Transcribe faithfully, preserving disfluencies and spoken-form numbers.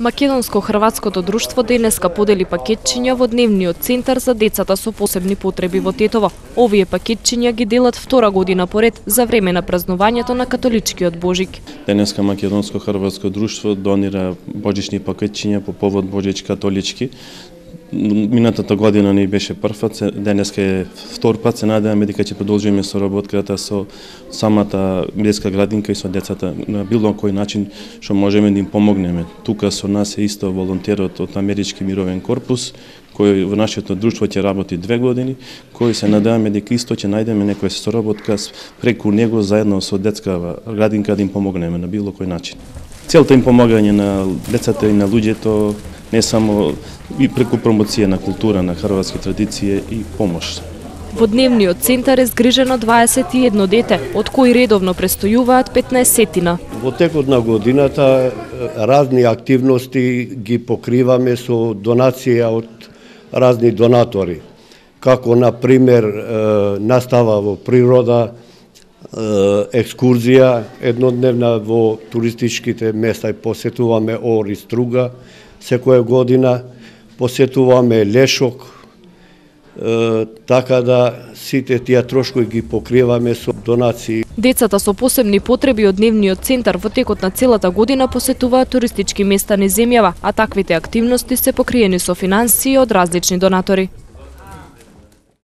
Македонско-хрватското друштво денеска подели пакетчиња во дневниот центар за децата со посебни потреби во Тетово. Овие пакетчиња ги делат втора година поред за време на празнувањето на католичкиот Божик. Денеска Македонско-хрватско друштво донира божични пакетчиња по повод Божич католички. Минатата година не беше прв, денеска е втор пат, се надеваме дека ќе продолжиме соработката со самата детска градинка и со децата на било кој начин што можеме да им помогнеме. Тука со нас е исто волонтерот од Амерички мировен корпус, кој во нашето друштво ќе работи две години, кој се надеваме дека исто ќе најдеме некоја соработка преку него заедно со детска градинка да им помогнеме на било кој начин. Целта им помагање на децата и на луѓето не само и преку промоција на култура, на хрватски традиција и помош. Во дневниот центар е згрижено дваесет и едно дете, од кои редовно престојуваат петнаесеттина. Во текот на годината разни активности ги покриваме со донација од разни донатори, како на пример настава во природа, екскурзија еднодневна во туристичките места и посетуваме Ор и Струга секоја година, посетуваме Лешок, така да сите тие трошкови ги покриваме со донации. Децата со посебни потреби од дневниот центар во текот на целата година посетуваат туристички места низ земјава, а таквите активности се покриени со финансии од различни донатори.